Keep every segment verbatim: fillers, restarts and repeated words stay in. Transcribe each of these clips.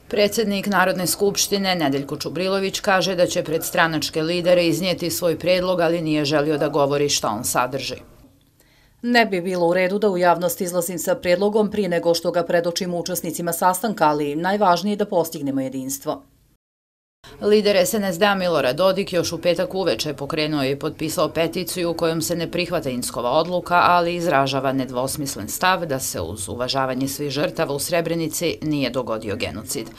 Predsjednik Narodne skupštine Nedeljko Čubrilović kaže da će pred stranačke lidere iznijeti svoj predlog, ali nije želio da govori šta on sadrži. Ne bi bilo u redu da u javnost izlazim sa predlogom prije nego što ga predočimo učesnicima sastanka, ali najvažnije je da postignemo jedinstvo. Lider es en es de-a Milorad Dodik još u petak uveče pokrenuo je i potpisao peticiju u kojom se ne prihvata Inckova odluka, ali izražava nedvosmislen stav da se uz uvažavanje svih žrtava u Srebrenici nije dogodio genocid.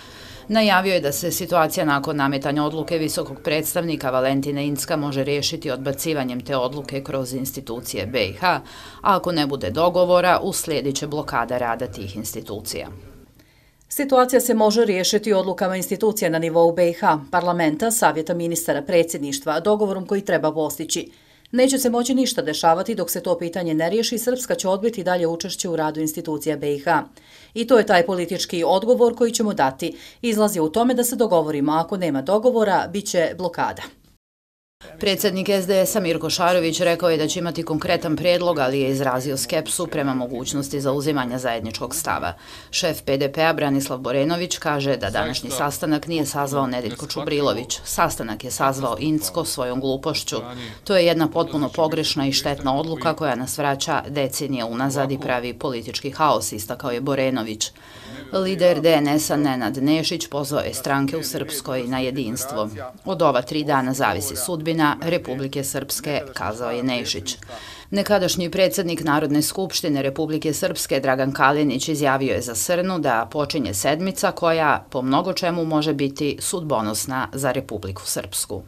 Najavio je da se situacija nakon nametanja odluke visokog predstavnika Valentina Incka može riješiti odbacivanjem te odluke kroz institucije be i ha, a ako ne bude dogovora, uslijedit će blokada rada tih institucija. Situacija se može riješiti odlukama institucija na nivou be i ha, parlamenta, savjeta ministara, predsjedništva, dogovorom koji treba postići. Neće se moći ništa dešavati dok se to pitanje ne riješi, Srpska će odbiti dalje učešće u radu institucija be i ha. I to je taj politički odgovor koji ćemo dati. Izlazi u tome da se dogovorimo, a ako nema dogovora, bit će blokada. Predsjednik es de es-a Mirko Šarović rekao je da će imati konkretan predlog, ali je izrazio skepsu prema mogućnosti zauzimanja zajedničkog stava. Šef pe de pe-a Branislav Borenović kaže da današnji sastanak nije sazvao Nedeljko Čubrilović. Sastanak je sazvao Incko svojom glupošću. To je jedna potpuno pogrešna i štetna odluka koja nas vraća decenije unazad i pravi politički haos, istakao je Borenović. Lider de en es-a Nenad Nešić pozvao je stranke u Srpskoj na jedinstvo. Od ova tri dana zavisi sudbina Republike Srpske, kazao je Nešić. Nekadašnji predsjednik Narodne skupštine Republike Srpske Dragan Kalinić izjavio je za Srnu da počinje sedmica koja po mnogo čemu može biti sudbonosna za Republiku Srpsku.